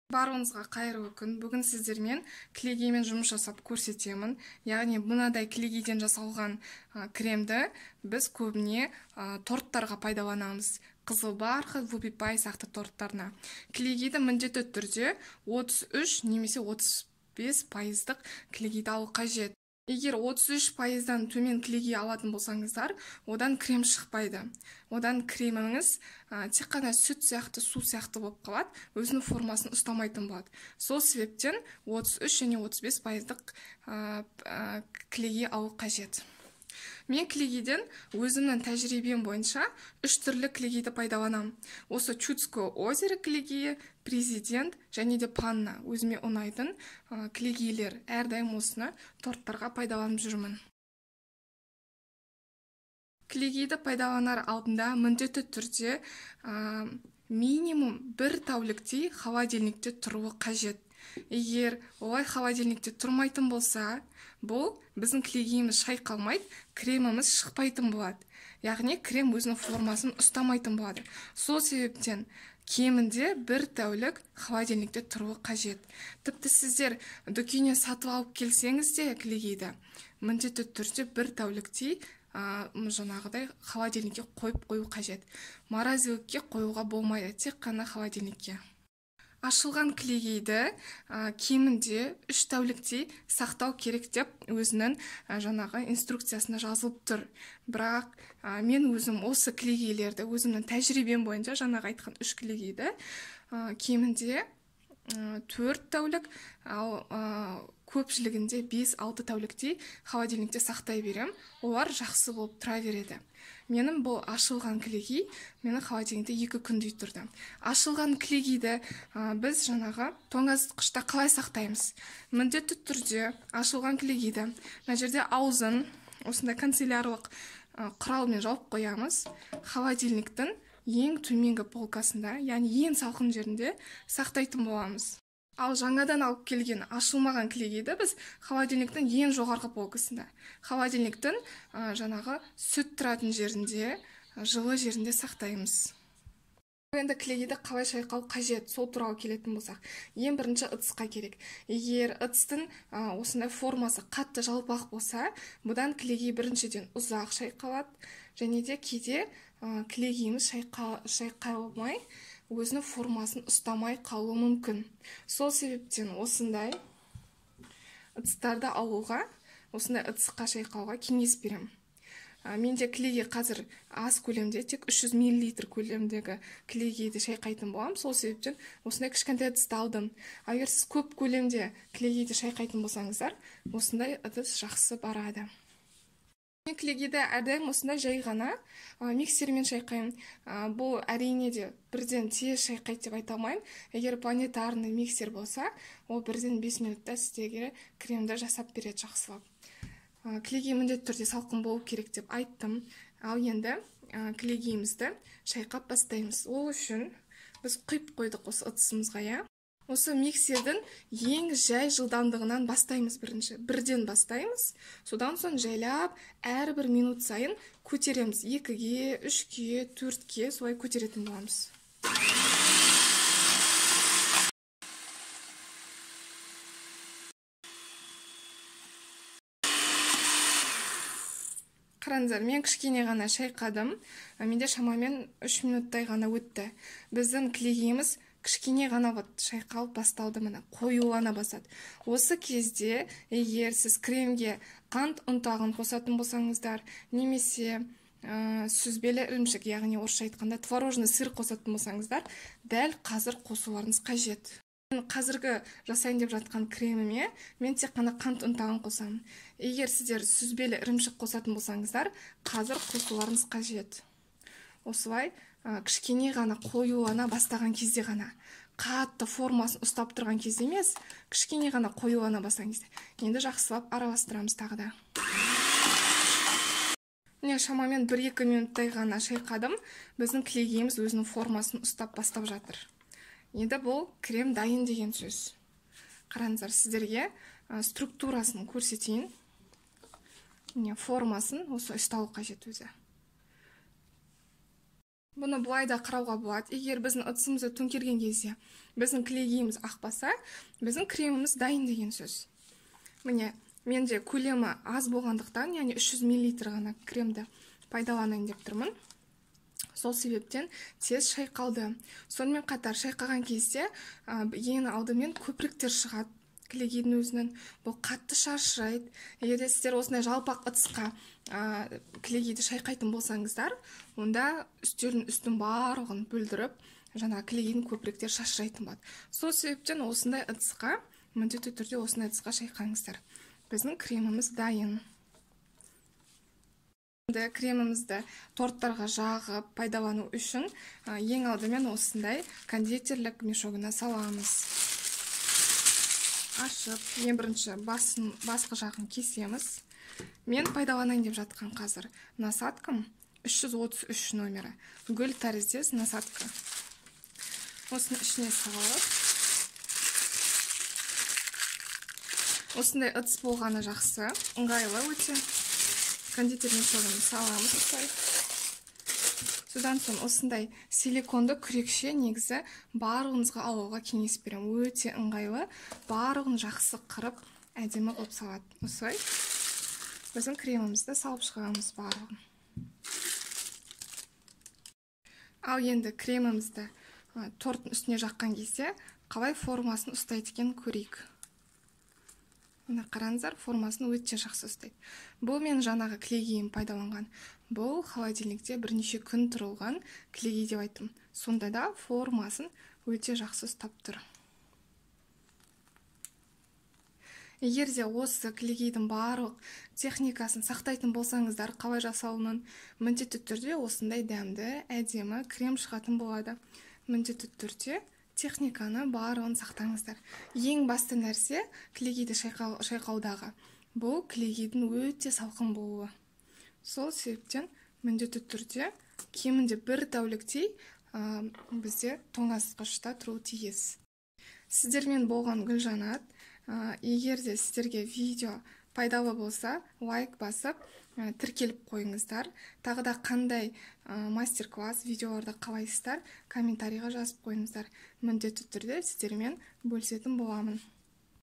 Барыңызға қайырлы күн. Бүгін сіздермен кілегеймен жұмыс жасап көрсетемін. Яғни мынадай кілегейден жасалған кремді біз көбіне торттарға пайдаланамыз. Қызыл барқыт, вупи пай сияқты торттарына. Кілегейді міндетті түрде 33 немесе 35% кілегейді алу қажет. Егер 33%-дан төмен кілегей алатын болсаңыздар, одан крем шықпайды. Одан креміңіз тек қана сүт сияқты, су сияқты болып қалады, өзінің формасын ұстамайтын болады. Сол себептен 33 және 35%-дық кілегей алу қажет. Мен кілегейден өзімнің тәжірибем бойынша 3 түрлі кілегейді пайдаланам. Осы Чудское озеро кілегейі, Президент және де Панна өзіме ұнайтын кілегейлер. Әрдайым осыны торттарға пайдаланып жүрмін. Кілегейді пайдаланар алдында міндетті түрде минимум 1 тәуліктей холодильникте тұруы қажет. Егер олай холодильникте тұрмайтын болса, бұл біздің кілегейіміз шайқалмайды, креміміз шықпайтын болады. Яғни крем өзінің формасын ұстамайтын болады. Сол себептен кемінде 1 тәулік холодильникте тұруы қажет. Тіпті сіздер дүкеннен сатып алып келсеңіз де кілегейді, міндетті түрде 1 тәуліктей жаңағыдай холодильникке қойып қою қажет. Морозилікке қоюға болмайды, тек қана холодильникке. Ашылған кілегейді кемінде 3 тәуліктей сақтау керек деп өзінің жаңағы инструкциясында жазылып тұр. Бірақ мен өзім осы кілегейлерді өзімнің тәжірибем бойынша жаңағы айтқан 3 кілегейді кемінде 4 тәулік, ал көпшілігінде 5-6 тәуліктей холодильникте сақтай берем. Олар жақсы болып тұра береді. Менің бұл ашылған кілегей мені холодильникте 2 күндей тұрды. Ашылған кілегейді біз жаңағы тоңазытқышта қалай сақтаймыз? Міндетті түрде ашылған кілегейді мына жерде аузын осындай канцелярлық құралмен жауып қоямыз. Холодильниктің ең төменгі полкасында, яғни ең салқын жерінде сақтайтын боламыз. Ал жаңадан алып келген ашылмаған кілегейді біз холодильниктің ең жоғарғы полкасында, холодильниктің жаңағы сүт тұратын жерінде, жылы жерінде сақтаймыз. Енді кілегейді қалай шайқау қажет, сол туралы келетін болсақ, ең бірінші ыдысқа керек. Егер ыдыстың осындай формасы қатты жалпақ болса, бұдан кілегей біріншіден ұзақ шайқалады, және де кейде кілегейіміз шайқалмай, өзінің формасын ұстамай қалуы мүмкін. Сол себептен осындай ыдыстарды алуға, осындай ыдысқа шайқауға кеңес берем. Менде кілегей қазір аз көлемде, тек 300 мл көлемдегі кілегейді шайқайтын болам. Сол себептен осындай кішкентай ыдысты алдым. Егер сіз көп көлемде кілегейді шайқайтын болсаңыздар, осындай ыдыс жақсы барады. Мен кілегейді әрдайым осындай жай ғана миксермен шайқаймын. Бұл әрине де бірден тез шайқайды деп айта алмаймын. Егер планетарный миксер болса, ол бірден 5 минутта сіздерге кремді жасап береді жақсылап. Кілегей міндетті түрде салқын болу керек деп айттым. Ал енді кілегейімізді шайқап бастаймыз. Ол үшін біз құйып қойдық осы ыдысымызға. Осы миксердің ең жай жылдамдығынан бастаймыз бірінші. Бірден бастаймыз. Содан соң жайлап әрбір минут сайын көтереміз. 2-ге, 3-ге, 4-ге солай көтеретін боламыз. Қараңыздар, мен кішкене ғана шайқадым. Менде шамамен 3 минуттай ғана өтті. Біздің кілегейіміз кішкене ғана шайқалып басталды, міне қоюлана бастады. Осы кезде егер сіз кремге қант ұнтағын қосатын болсаңыздар, немесе сүзбелі ірімшік, яғни орысша айтқанда творожный сыр қосатын болсаңыздар, дәл қазір қосуларыңыз қажет. Қазіргі жасайын деп жатқан креміме мен тек қана қант ұнтағын қосамын. Егер сіздер сүзбелі ірімшік қосатын болсаңыздар, қазір қосуларыңыз қажет. Осылай кішкене ғана қоюлана бастаған кезде ғана, қатты формасын ұстап тұрған кезде емес, кішкене ғана қоюлана бастаған кезде. Енді жақсылап араластырамыз тағы да. Міне шамамен 1-2 минуттай ғана шайқадым. Біздің кілегейіміз өзінің формасын ұстап бастап жатыр. Енді бұл крем дайын деген сөз. Қараңыздар, сіздерге структурасын көрсетейін. Міне формасын осы ұсталу қажет өзі. Бұны бұлай да қарауға болады. Егер біздің ыдысымызды төңкерген кезде біздің кілегейіміз ақпаса, біздің креміміз дайын деген сөз. Міне, менде көлемі аз болғандықтан, яғни 300 мл ғана кремді пайдаланайын деп тұрмын. Сол себептен тез шайқалды. Сонымен қатар шайқаған кезде ең алдымен көпіріктер шығады кілегейдің өзінен. Бұл қатты шашырайды. Егер сіздер осындай жалпақ ыдысқа кілегейді шайқайтын болсаңыздар, онда үстелдің үстін барлығын бүлдіріп, жаңа кілегейдің көпіріктер шашырайтын болады. Сол себептен осындай ыдысқа, міндетті түрде осындай ыдысқа шайқаңыздар. Біздің креміміз дайын. Кремімізді торттарға жағып пайдалану үшін ең алдымен осындай кондитерлік мешогына саламыз. Ашып, ең бірінші басқы жағын кесеміз. Мен пайдаланайын деп жатқан қазір насадкам 333 номері. Гүл тәріздес насадка. Осыны ішіне салып. Осындай ыдыс болғаны жақсы, ыңғайлы өте. Кондитер мешогын саламыз. Содан соң осындай силиконды күрекше негізі барлығыңызға алуға кеңес беремін. Өте ыңғайлы, барлығын жақсы қырып, әдемі қылып салады. Осылай біздің кремімізді салып шығамыз барлығын. Ал енді кремімізді торттың үстіне жаққан кезде қалай формасын ұстайды екен көрейік. Мына қараңыздар, формасын өте жақсы ұстайды. Бұл мен жаңағы кілегейім пайдаланған. Бұл холодильникте бірнеше күн тұрылған кілегей деп айттым. Сонда да формасын өте жақсы ұстап тұр. Егер де осы кілегейдің барлық техникасын сақтайтын болсаңыздар, қалай жасалуын, міндетті түрде осындай дәмді, әдемі крем шығатын болады. Міндетті түрде техниканы барлығын сақтаңыздар. Ең басты нәрсе кілегейді шайқаудағы. Бұл кілегейдің өте салқын болуы. Сол себептен міндетті түрде кемінде бір тәуліктей бізде тоңазытқышта тұруы тиіс. Сіздермен болған Гүлжанат. Егер де сіздерге видео пайдалы болса, лайк басып, тіркеліп қойыңыздар. Тағы да қандай мастер-класс видеоларды қалайсыздар, комментарийға жазып қойыңыздар. Міндетті түрде сіздермен бөлісетін боламын.